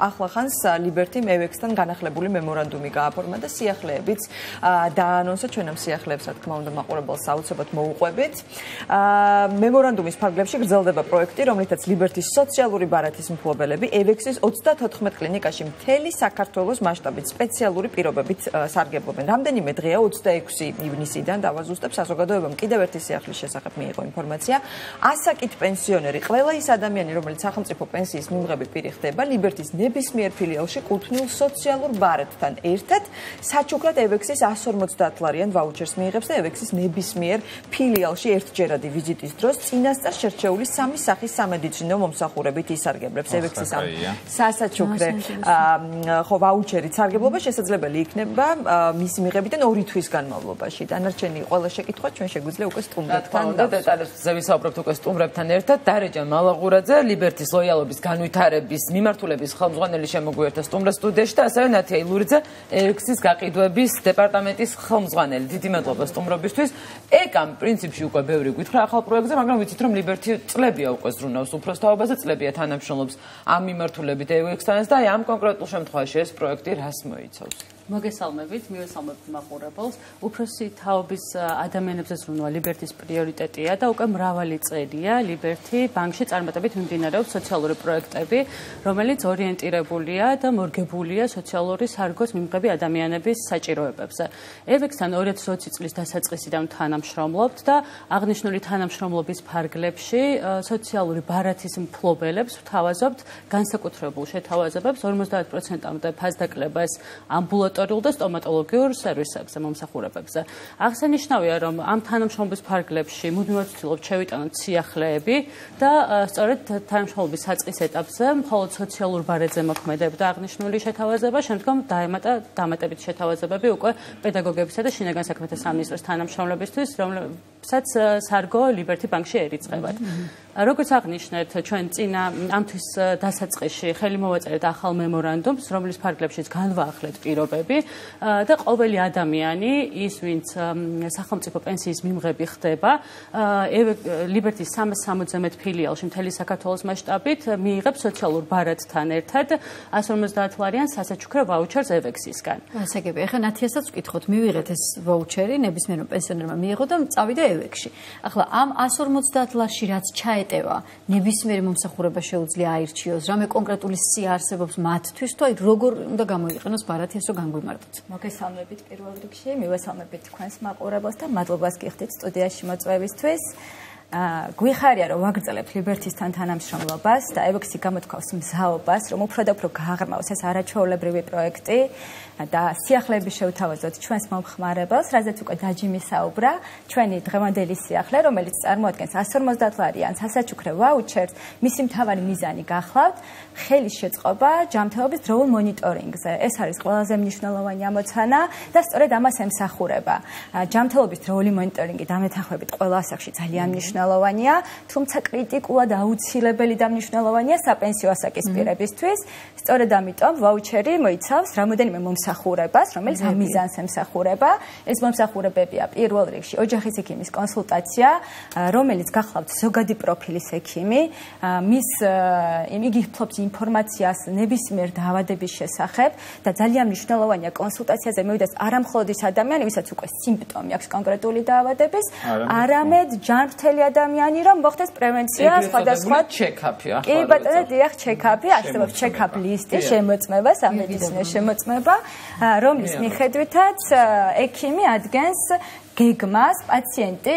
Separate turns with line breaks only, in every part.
ახლახანს ლიბერთიმ ევექსთან განახლებული მემორანდუმი გააფორმა და სიახლეებიც დაანონსა ჩვენ ამ სიახლეებს რა თქმა უნდა მაყურებელს აუცილებლად მოუყვებით. მემორანდუმის ფარგლებში გრძელდება პროექტი, რომლითაც ლიბერთის სოციალური ბარათის მფლობელები ევექსის 34 კლინიკაში მთელი საქართველოს მასშტაბით სპეციალური პირობებით სარგებლობენ. რამდენიმე დღეა 26 ივნისიდან დავაზუსტებ საზოგადოებამ კიდევ ერთი სიახლის შესახებ მიიღო ინფორმაცია. ასაკით პენსიონერი ყველა ის ადამიანი, რომელიც სახელმწიფო პენსიის მიმღები პირი ხდება, ლიბერთის ნებისმიერ ფილიალში კუთვნილ სოციალურ ბარათთან ერთად საჩუქრად ევექსის 150 ლარიან ვაუჩერს მიიღებს და ევექსის ნებისმიერ ფილიალში ერთჯერადი ვიზიტის დროს წინასწარ შერჩეული სამი სახის სამედიცინო მომსახურებით ისარგებლებს. ევექსის ამ სასაჩუქრე ვაუჩერით სარგებლობა შესაძლებელი იქნება მისი მიღებიდან 2 თვის განმავლობაში. დანარჩენი ყველა შეკითხვა ჩვენ შეგვიძლია უკვე სტუმრებთან
დეტალებზე ვისაუბრებთ უკვე სტუმრებთან ერთად. დარეჯან მალაღურაძე, ლიბერთის ლოიალობის განვითარების მიმართულების ხელმძღვანელი შემოგვიერთდა სტუმრად სტუდიაში და ასევე ნათია ილურიძე, ევექსის გაყიდვების დეპარტამენტის ხელმძღვანელი. დიდი მადლობა სტუმრობისთვის. ეკამ პრინციპში უკვე ბევრი გითხრა ახალ პროექტზე, მაგრამ ვიცით რომ ლიბერთი წლებია უკვე ზრუნავს უფროსთაობაზე, წლებია თანამშრომლობს ამ მიმართულებით ევექსთან და ამ კონკრეტულ შემთხვევაში ეს პროექტი რას მოიცავს?
მოგესალმებით, მივესალმებთ მაყურებელს. უფროსი თაობის ადამიანებზე ზრუნვა ლიბერთის პრიორიტეტია და უკვე მრავალი წელია ლიბერთი ბანკში წარმატებით მიმდინარეობს სოციალური პროექტები, რომელიც ორიენტირებულია და მორგებულია სოციალური სარგოს მიმღები ადამიანების საჭიროებებზე. ევექსთან 2020 წლის დასაწყისიდან თანამშრომლობთ და აღნიშნული თანამშრომლობის ფარგლებში სოციალური ბარათის მფლობელებს ვთავაზობთ განსაკუთრებულ შეთავაზებებს 50%-მდე ფასდაკლებას ამბულატორიულ და სტომატოლოგიურ სერვისებზე მომსახურებებზე. აღსანიშნავია, რომ ამ თანამშრომლობის ფარგლებში მუდმივად ვცდილობთ შევიტანოთ სიახლეები და სწორედ თანამშრომლობის საწყის ეტაპზე მხოლოდ სოციალურ ბარათზე მოქმედებდა აღნიშნული შეთავაზება, შემდგომ დაემატა დამატებითი შეთავაზებები უკვე პედაგოგებისა და შინაგან საქმეთა სამინისტროს თანამშრომლებისთვის, რომლებსაც სარგო ლიბერთი ბანკში ერიწყებათ. როგორც აღნიშნეთ, ჩვენ წინა ამთვის დასაწყისში ხელი მოვაწერეთ ახალ მემორანდუმს, რომლის ფარგლებშიც განვაახლეთ პირობები და ყოველი ადამიანი, ის ვინც სახელმწიფო პენსიის მიმღები ხდება, ლიბერთის 360 ფილიალში მთელი საქართველოს მასშტაბით მიიღებს სოციალურ ბარათთან ერთად 150 ლარიან სასაჩუქრე ვაუჩერს ევექსისგან.
ასაგები, ახლა ნათიასაც ვკითხოთ, მივიღეთ ეს ვაუჩერი, ნებისმიერ პენსიონერმა მიიღო და წავიდა ევექსში. ახლა ამ 150 ლარში რაც ჩაეტევა, ნებისმიერი მომსახურება შეუძლია აირჩიოს, რამე კონკრეტული სია არსებობს მათთვის, თუ აი როგორ უნდა გამოიყენოს ბარათი ეს რომ განგვიმარტოთ.
მოგესალმებით პირველ რიგში, მივესალმებით თქვენს მაყურებელს და მადლობას გიხდით სტუდიაში მოწვევისთვის. გვიხარია რომ ვაგრძელებთ ლიბერთისთან თანამშრომლობას და ევექსი გამოთქვავს მზაობას, რომ უფრო და უფრო გააღრმავოს ეს არაჩვეულებრივი პროექტი და სიახლეები შევთავაზოთ ჩვენს მომხმარებელს, რაზეც უკვე დაჯიმი საუბრა, ჩვენი დღევანდელი სიახლე, რომელიც წარმოადგენს 150 ლარიან სასაჩუქრე ვაუჩერს, მისი მთავარი მიზანი გახლავთ ხელის შეწყობა ჯანმრთელობის დროულ მონიტორინგზე. ეს არის ყველაზე მნიშვნელოვანი ამოცანა და სწორედ ამას ემსახურება. ჯანმრთელობის დროული მონიტორინგი დამეთანხმებით ყველა ასაკში ძალიან მნიშვნელოვანია, თუმცა კრიტიკულად აუცილებელი და მნიშვნელოვანია საპენსიო ასაკის პირებისთვის. სწორედ ამიტომ ვაუჩერი მოიცავს რამოდენიმე მომსახურებას, რომელიც ამ მიზანს ემსახურება. ეს მომსახურებებია პირველ რიგში ოჯახის ექიმის კონსულტაცია, რომელიც გახლავთ ზოგადი პროფილის ექიმი, იგი ფლობს ინფორმაციას ნებისმიერ დაავადების შესახებ და ძალიან მნიშვნელოვანია კონსულტაციაზე მოვიდეს არა მხოლოდ ის ადამიანი, ვისაც უკვე სიმპტომი აქვს კონკრეტული დაავადების, არამედ ჯანმრთელი ადამიანი, რომ მოხდეს პრევენცია სხვადასხვა
ჩეკაპი.
კი ბატონო, დიახ, ჩეკაპი, არსებობს ჩეკაპ ლისტი, შემოწმება, სამედიცინო შემოწმება, რომლის მიხედვითაც ექიმი ადგენს გეგმას, პაციენტი,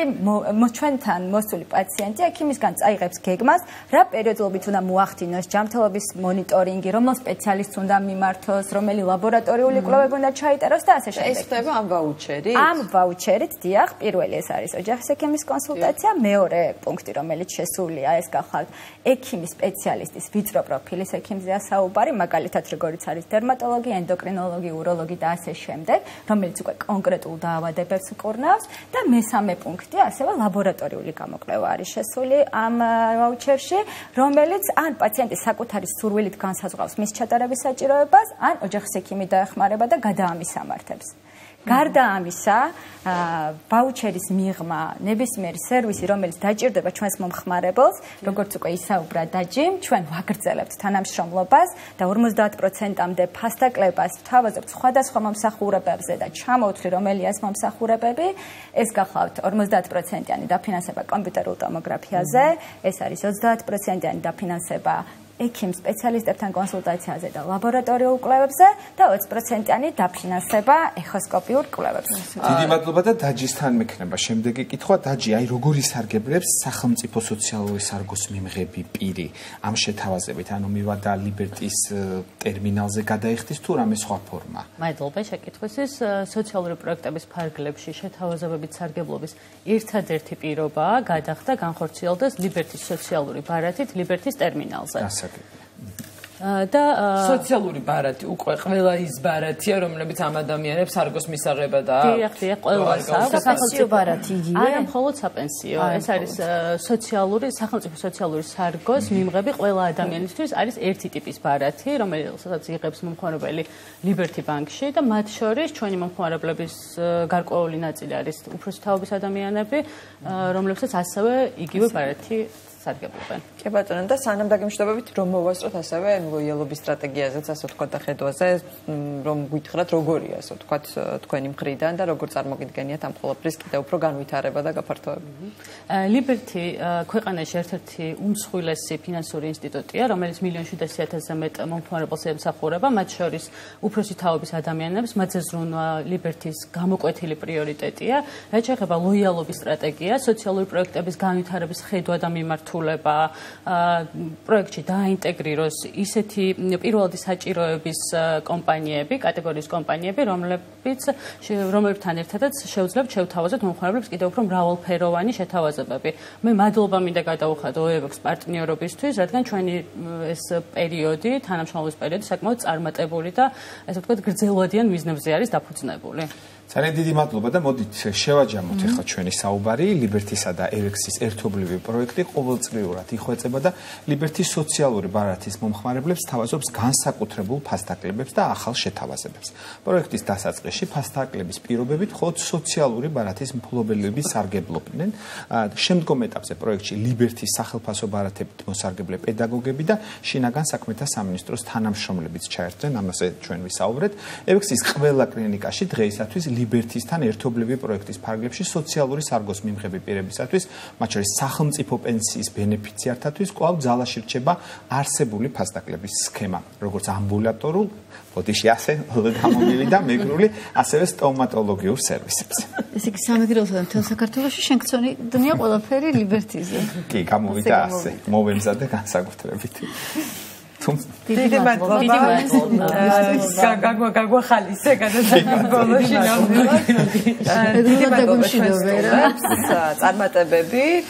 ჩვენთან მოსული პაციენტი ექიმისგან წაიღებს გეგმას, რა პერიოდულობით უნდა მოახდინოს ჯანმრთელობის მონიტორინგი, რომელ სპეციალისტს უნდა მიმართოს, რომელი ლაბორატორიული კვლევები უნდა ჩაიტაროს და ასე შემდეგ.
ეს ხდება ამ ვაუჩერით?
ამ ვაუჩერით, დიახ, პირველი ეს არის ოჯახის ექიმის კონსულტაცია, მეორე პუნქტი, რომელიც შესულია, ეს გახლავთ ექიმის სპეციალისტის ვიწრო პროფილის ექიმზეა საუბარი, მაგალითად, როგორიც არის დერმატოლოგი, ენდოკრინოლოგი, უროლოგი და ასე შემდეგ, რომელიც უკვე კონკრეტულ დაავადებებს კურნავს. და მესამე პუნქტი ასევე ლაბორატორიული გამოკვლევა არის შესული ამ ვაუჩერში, რომელიც ან პაციენტის საკუთარი სურვილით განსაზღვრავს მის ჩატარების საჭიროებას, ან ოჯახის ექიმი დაეხმარება და გადაამისამართებს. გარდა ამისა, ვაუჩერის მიღმა ნებისმიერი სერვისი, რომელიც დაჭირდება ჩვენს მომხმარებელს, როგორც უკვე ისაუბრა დაჯიმ, ჩვენ ვაგრძელებთ თანამშრომლობას და 50%-მდე ფასდაკლებას ვთავაზობთ სხვადასხვა მომსახურებებზე და ჩამოვთვლი რომელია ეს მომსახურებები, ეს გახლავთ 50%-იანი დაფინანსება კომპიუტერულ ტომოგრაფიაზე, ეს არის 30%-იანი დაფინანსება ექიმ სპეციალისტებთან კონსულტაციაზე და ლაბორატორიულ კვლევებზე და 20%-იანი დაფინანსება ეხოსკოპიურ კვლევებზე.
დიდი მადლობა და დაჯისთან მექნება შემდეგი კითხვა. დაჯი, აი როგორ ისარგებლებს სახელმწიფო სოციალური სარგოს მიმღები პირი ამ შეთავაზებით, ანუ მივადა ლიბერტის ტერმინალზე გადაიხდის თუ რამე სხვა ფორმა?
მადლობა შეკითხვისთვის. სოციალური პროექტების ფარგლებში შეთავაზებებით სარგებლობის ერთადერთი პირობაა გადახდა განხორციელდეს ლიბერტის სოციალური ბარათით ლიბერტის ტერმინალზე. და
სოციალური ბარათი უკვე ყველა ის ბარათია, რომლებიც ამ ადამიანებს სარგოს მისაღება და
დიახ, ყველას აქვს
სახელმწიფო ბარათი იგივე.
არა, მხოლოდ საპენსიო. ეს არის სახელმწიფო სოციალური სარგოს მიმღები ყველა ადამიანისთვის არის ერთი ტიპის ბარათი, რომელსაც იღებს მომხმარებელი ლიბერტი ბანკში და მათ შორის ჩვენი მომხმარებლების გარკვეული ნაწილი არის უფროსი თაობის ადამიანები, რომლებსაც ასევე იგივე ბარათი სარგებლობენ.
კი ბატონო, და სანამ დაგემშვიდობებით, რომ მოვასწროთ ასევე ლოიალობის სტრატეგიაზეც, ასე ვთქვათ, და ხედვაზე, რომ გითხრათ, როგორია, ასე ვთქვათ, თქვენი მხრიდან და როგორ წარმოგიდგენიათ ამ ყველაფრის კიდევ უფრო განვითარება და გაფართოება.
ლიბერტი ქვეყანაში ერთ-ერთი უმსხვილესი ფინანსური ინსტიტუტია, რომელიც 1,700,000-ზე მეტ მომხმარებელს ემსახურება, მათ შორის უფროსი თაობის ადამიანებს, მათზე ზრუნვა ლიბერტის გამოკვეთილი პრიორიტეტია. რაც შეეხება ლოიალობის სტრატეგიას, სოციალური პროექტების განვითარების ხედვა და მიმართულება პროექტში დაინტეგრიროს ისეთი პირველადი საჭიროების კომპანიები, კატეგორიის კომპანიები, რომლებთან ერთადაც შევძლებთ შევთავაზოთ მომხმარებლებს კიდევ უფრო მრავალფეროვანი შეთავაზებები. მე მადლობა მინდა გადავუხადო OEVX პარტნიორობისთვის, რადგან ჩვენი ეს პერიოდი, თანამშრომლობის პერიოდი საკმაოდ წარმატებული და ესე ვთქვათ გრძელვადიან მიზნებზე არის დაფუძნებული.
ძალიან დიდი მადლობა და მოდით შევაჯამოთ ახლა ჩვენი საუბარი ლიბერტისა და EVX-ის ერთობლივი პროექტი ყოველწლიურად იხვეწება და ლიბერტის სოციალური ბარათის მომხმარებლებს თავაზობს განსაკუთრებულ ფასდაკლებებს და ახალ შეთავაზებებს. პროექტის დასაწყისში ფასდაკლების პირობებით მხოლოდ სოციალური ბარათის მფლობელები სარგებლობდნენ. შემდგომ ეტაპზე პროექტში ლიბერტის სახელფასო ბარათებით მოსარგებლე პედაგოგები და შინაგან საქმეთა სამინისტროს თანამშრომლებიც ჩაერთვნენ, ამაზე ჩვენ ვისაუბრეთ. EVX-ის ყველა კლინიკაში დღეისათვის ლიბერტისთან ერთობლივი პროექტის ფარგლებში სოციალური სარგოს მიმღები პირებისათვის, მათ შორის სახელმწიფო პენსიის ბენეფიციართათვის კვლავ ძალაში რჩება არსებული ფასდაკლების სქემა, როგორც ამბულატორულ, ბოდიში ასე გამომილი და მეგრული, ასევე სტომატოლოგიურ სერვისებზე.
ესე იგი სამეგრელოსა და მთელ საქართველოში შენქცონია ყველაფერი ლიბერტიზე.
კი, გამოვიდა ასე, მოვემზადე განსაკუთრებით.
დიდი მადლობა. გაგვახალისე გადაცემა ბოლოში ნამდვილად. დიდი მადლობა. წარმატებები.